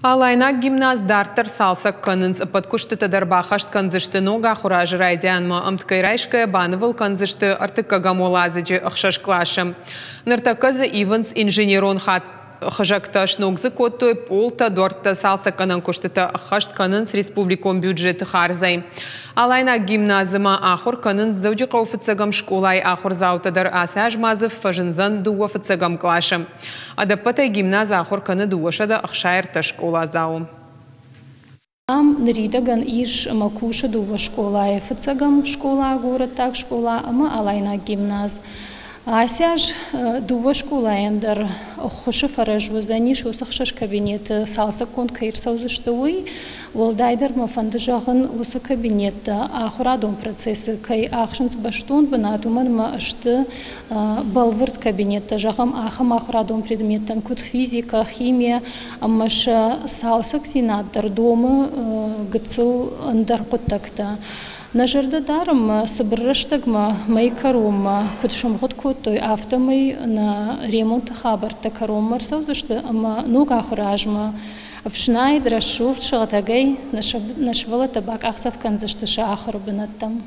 Алайнаг гимназ дарддӕр цалцӕг кӕнынц. Ӕппӕт куыстытӕ дӕр баххӕст кӕндзысты ног ахуыры азы райдианмӕ. Ӕмткӕй райсгӕйӕ банывыл кӕндзысты ӕртыккӕгӕм уӕладзыджы ӕхсӕз къласы. Ныртӕккӕ дзы ивынц инженерон хызӕгтӕ, сног дзы кодтой пъолтӕ, дуӕрттӕ, цалцӕггӕнӕн куыстытӕ ӕххӕст кӕнынц республикон бюджеты хардзӕй. Алайнаг гимназы ма ахуыр кӕнынц Дзӕуджыхъӕуы фыццӕгӕм скъолайы ахуырдзаутӕ дӕр. Ацы аз ма дзы фӕзындзӕн дыууӕ фыццӕгӕм къласы. Ӕдӕппӕтӕй гимназ ахуыр кӕны 263 скъоладзауы. Ам ныридӕгӕн ис ӕмӕ кусы дыууӕ скъолайы: фыццӕгӕм скъола, горӕттаг скъола ӕмӕ Алайнаг гимназ. Ацы аз дыууӕ скъолайӕн дӕр ӕххуысы фӕрӕз уыдзӕнис уыцы хсӕз кабинеты цалцӕггонд кӕй ӕрцӕудзысты, уый. Уӕлдайдӕр мӕ фӕнды зӕгъын, уыцы кабинеттӕ ахуырадон процессы кӕй ахсынц бӕстон бынат, уымӕн ӕмӕ сты бӕлвырд кабинеттӕ, зӕгъӕм, ахӕм ахуырадон предметтӕн, куыд физикӕ, химия, ӕмӕ сӕ цалцӕгдзинад дӕр домы гыццыл ӕндӕр хъуыддӕгтӕ. Нӕ зӕрдӕ дарӕм, цыбыр рӕстӕгмӕ мӕй кӕронмӕ куыд сӕмгъуыд кодтой, афтӕмӕй нӕ ремонты хабӕрттӕ кӕронмӕ ӕрцӕудзысты ӕмӕ ног ахуыры азмӕ ӕфснайд, рӕсугъд, сыгъдӕгӕй нӕ сывӕллӕттӕ бакъахдзӕф кӕндзысты сӕ ахуыры бынӕттӕм.